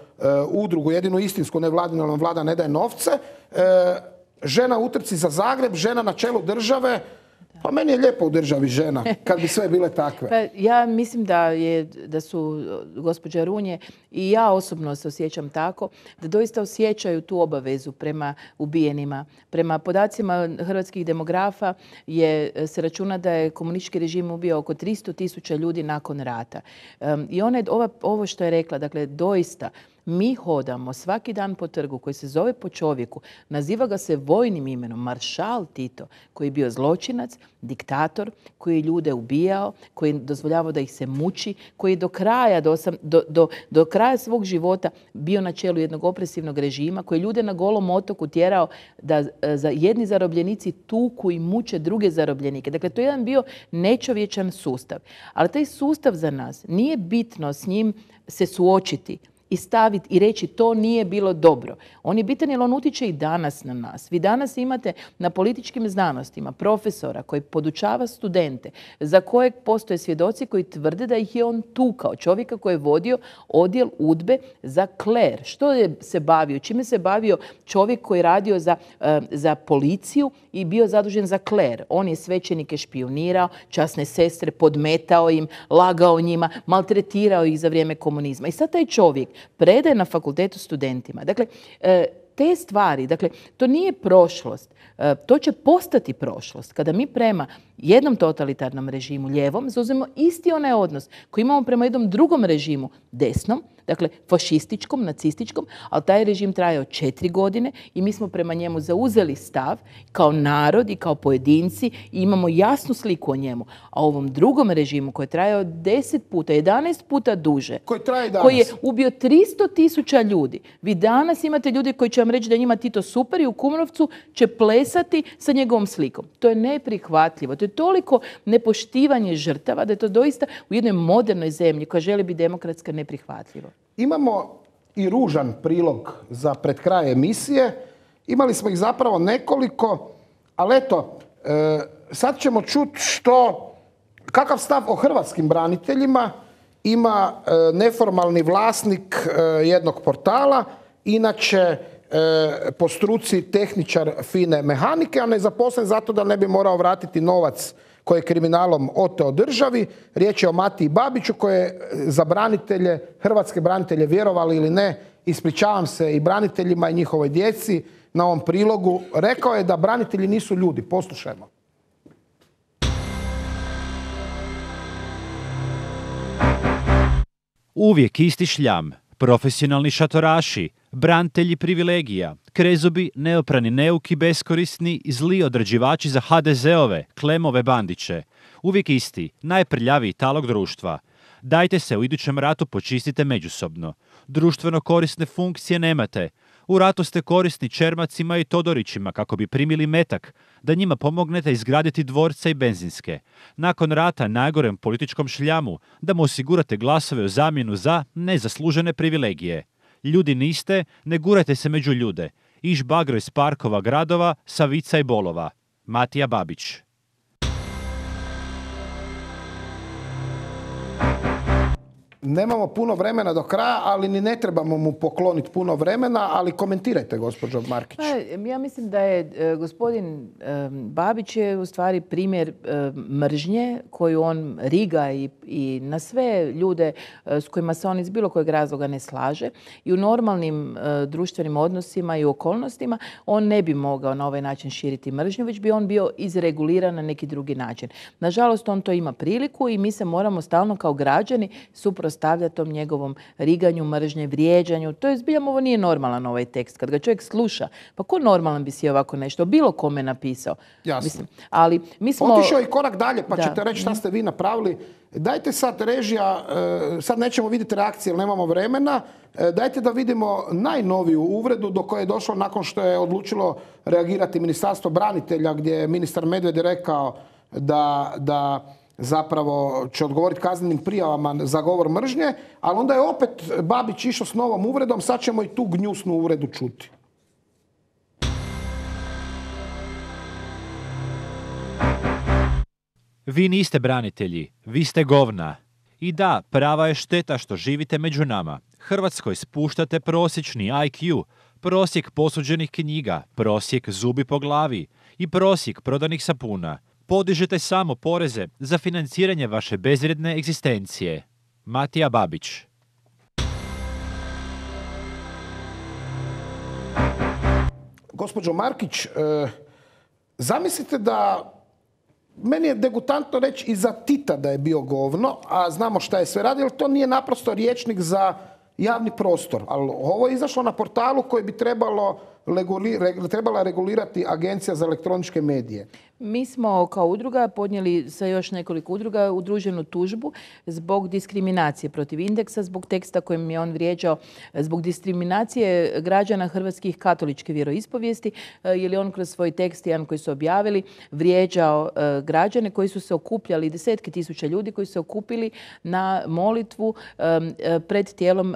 udrugu, jedinu istinsku nevladinu, ali vlada ne daje novce. Žena u utrci za Zagreb, žena na čelu države. Pa meni je lijepo u državi žena, kad bi sve bile takve. Pa ja mislim da su gospođa Runje i ja osobno se osjećam tako, da doista osjećaju tu obavezu prema ubijenima. Prema podacima hrvatskih demografa se računa da je komunistički režim ubio oko 300.000 ljudi nakon rata. I ovo što je rekla, dakle doista, mi hodamo svaki dan po trgu koji se zove po čovjeku, naziva ga se vojnim imenom, maršal Tito, koji je bio zločinac, diktator, koji je ljude ubijao, koji je dozvoljavao da ih se muči, koji je do kraja svog života bio na čelu jednog opresivnog režima, koji je ljude na Golom otoku tjerao da jedni zarobljenici tuku i muče druge zarobljenike. Dakle, to je jedan bio nečovječan sustav. Ali taj sustav za nas nije bitno s njim se suočiti i staviti i reći to nije bilo dobro. On je bitan jer on utječe i danas na nas. Vi danas imate na političkim znanostima profesora koji podučava studente za kojeg postoje svjedoci koji tvrde da ih je on tukao. Čovjeka koji je vodio odjel UDBE za kler. Što je se bavio? Čime se bavio čovjek koji je radio za policiju i bio zadužen za kler? On je svećenike špijunirao, časne sestre podmetao im, lagao njima, maltretirao ih za vrijeme komunizma. I sad taj čovjek predaje na fakultetu studentima. Dakle, te stvari, dakle, to nije prošlost. To će postati prošlost. Kada mi prema jednom totalitarnom režimu, lijevom, zauzmemo isti onaj odnos koji imamo prema jednom drugom režimu, desnom, dakle fašističkom, nacističkom, ali taj režim trajao 4 godine i mi smo prema njemu zauzeli stav kao narod i kao pojedinci i imamo jasnu sliku o njemu. A ovom drugom režimu koji je trajao 10 puta, 11 puta duže, koji je ubio 300.000 ljudi. Vi danas imate ljude koji će vam reći da je njima Tito super i u Kumrovcu će plesati sa njegovom slikom. To je neprihvatljivo. To je toliko nepoštivanje žrtava da je to doista u jednoj modernoj zemlji koja želi biti demokratska neprihvatljivo. Imamo i ružan prilog za pred kraj emisije. Imali smo ih zapravo nekoliko, ali eto, sad ćemo čuti kakav stav o hrvatskim braniteljima ima neformalni vlasnik jednog portala, inače po struci tehničar fine mehanike, a ne zaposlen zato da ne bi morao vratiti novac koji je kriminalom oteo državi. Riječ je o Matiji Babiću koji je za branitelje, hrvatske branitelje, vjerovali ili ne, ispričavam se i braniteljima i njihovoj djeci na ovom prilogu, rekao je da branitelji nisu ljudi. Poslušajmo. Uvijek isti šljam, profesionalni šatoraši, branitelji privilegija, krezubi, neoprani neuki, beskorisni i zli odrađivači za HDZ-ove, Klemove bandiće. Uvijek isti, najprljaviji talog društva. Dajte se u idućem ratu počistite međusobno. Društveno korisne funkcije nemate. U ratu ste korisni Čermacima i Todorićima kako bi primili metak, da njima pomognete izgraditi dvorce i benzinske. Nakon rata najgorem političkom šljamu, da mu osigurate glasove u zamjenu za nezaslužene privilegije. Ljudi niste, ne gurajte se među ljude. Iš bagro iz parkova gradova, Savica i Bolova. Matija Babić. Nemamo puno vremena do kraja, ali ni ne trebamo mu pokloniti puno vremena, ali komentirajte, gospođo Markić. Ja mislim da je gospodin Babić je u stvari primjer mržnje koju on riga i na sve ljude s kojima se on iz bilo kojeg razloga ne slaže. I u normalnim društvenim odnosima i okolnostima on ne bi mogao na ovaj način širiti mržnju, već bi on bio izreguliran na neki drugi način. Nažalost, on to ima priliku i mi se moramo stalno kao građani suprotstaviti tom njegovom riganju, mržnje, vrijeđanju. To je zbiljam, ovo nije normalan ovaj tekst. Kad ga čovjek sluša, pa ko normalan bi si ovako nešto bilo kome napisao? Jasno. Mislim, ali mi smo... Otišao i korak dalje, pa ćete reći šta ste vi napravili. Dajte sad režija, sad nećemo vidjeti reakcije jer nemamo vremena, dajte da vidimo najnoviju uvredu do koje je došlo nakon što je odlučilo reagirati Ministarstvo branitelja, gdje je ministar Medved rekao da zapravo će odgovoriti kaznenim prijavama za govor mržnje, ali onda je opet Babić išao s novom uvredom, sad ćemo i tu gnjusnu uvredu čuti. Vi niste branitelji, vi ste govna. I da, prava je šteta što živite među nama. Hrvatskoj spuštate prosječni IQ, prosjek posuđenih knjiga, prosjek zubi po glavi i prosjek prodanih sapuna. Podižete samo poreze za financiranje vaše bezvrijedne egzistencije. Matija Babić. Gospođo Markić, zamislite da, meni je degutantno reći i za Tita da je bio govno, a znamo šta je sve radio, jer to nije naprosto rječnik za javni prostor. Ali ovo je izašlo na portalu koji bi trebala regulirati Agencija za elektroničke medije. Mi smo kao udruga podnijeli sa još nekoliko udruga udruženu tužbu zbog diskriminacije protiv Indeksa, zbog teksta kojim je on vrijeđao, zbog diskriminacije građana hrvatskih katoličke vjeroispovijesti, jer je on kroz svoj tekst, jedan koji su objavili, vrijeđao građane koji su se okupljali, desetke tisuća ljudi koji su se okupili na molitvu pred tijelom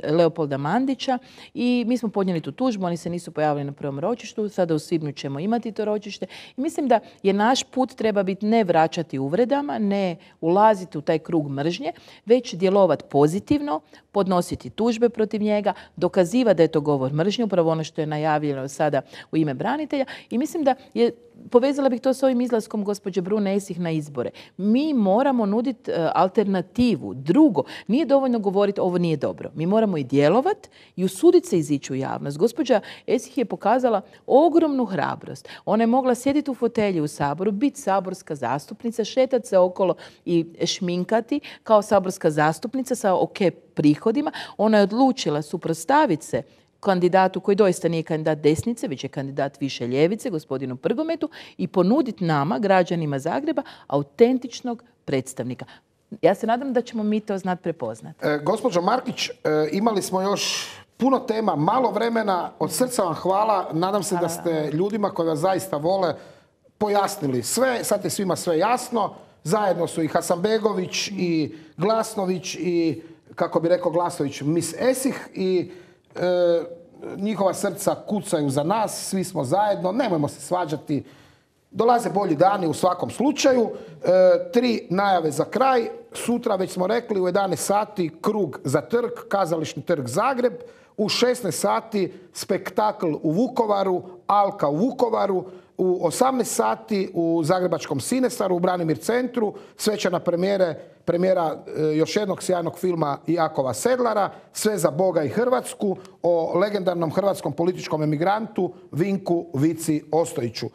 Leopolda Mandića i mi smo podnijeli tu tužbu, oni se nisu pojavili na prvom ročištu, sada u svibnju ćemo imati to ročište i mislim da je naš put treba biti ne vraćati uvredama, ne ulaziti u taj krug mržnje, već djelovati pozitivno, podnositi tužbe protiv njega, dokazivati da je to govor mržnje, upravo ono što je najavljeno sada u ime branitelja i mislim da je, povezala bih to s ovim izlaskom gospođe Brune Esih na izbore. Mi moramo nuditi alternativu. Drugo, nije dovoljno govoriti ovo nije dobro. Mi moramo i djelovati i usuditi se izići u javnost. Gospođa Esih je pokazala ogromnu hrabrost. Ona je mogla sjediti u fotelji u Saboru, biti saborska zastupnica, šetati se okolo i šminkati kao saborska zastupnica sa ok prihodima. Ona je odlučila suprotstaviti se kandidatu koji doista nije kandidat desnice, već je kandidat više ljevice, gospodinu Prgometu, i ponuditi nama, građanima Zagreba, autentičnog predstavnika. Ja se nadam da ćemo mi to znati prepoznati. Gospođo Markić, imali smo još puno tema, malo vremena, od srca vam hvala. Nadam se da ste ljudima koji vas zaista vole pojasnili sve, sad je svima sve jasno. Zajedno su i Hasanbegović i Glasnović i, kako bi rekao Glasnović, Miss Esih i njihova srca kucaju za nas, svi smo zajedno, nemojmo se svađati, dolaze bolji dani u svakom slučaju. 3 najave za kraj, sutra već smo rekli u 11 sati krug za trg, Kazališni trg Zagreb, u 16 sati spektakl u Vukovaru, Alka u Vukovaru, u 18 sati u Zagrebačkom Sinesaru, u Branimir centru, svečana premijera još jednog sjajnog filma Jakova Sedlara, Sve za Boga i Hrvatsku, o legendarnom hrvatskom političkom emigrantu Vinku Vici Ostojiću.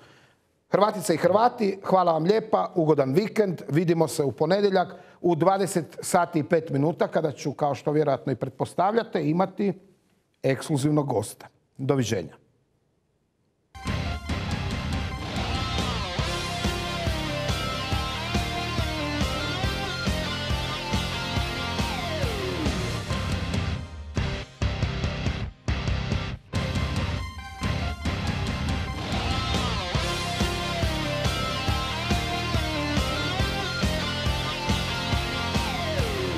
Hrvatice i Hrvati, hvala vam lijepa, ugodan vikend, vidimo se u ponedjeljak u 20 sati i 5 minuta kada ću, kao što vjerojatno i pretpostavljate, imati ekskluzivnog gosta. Doviđenja.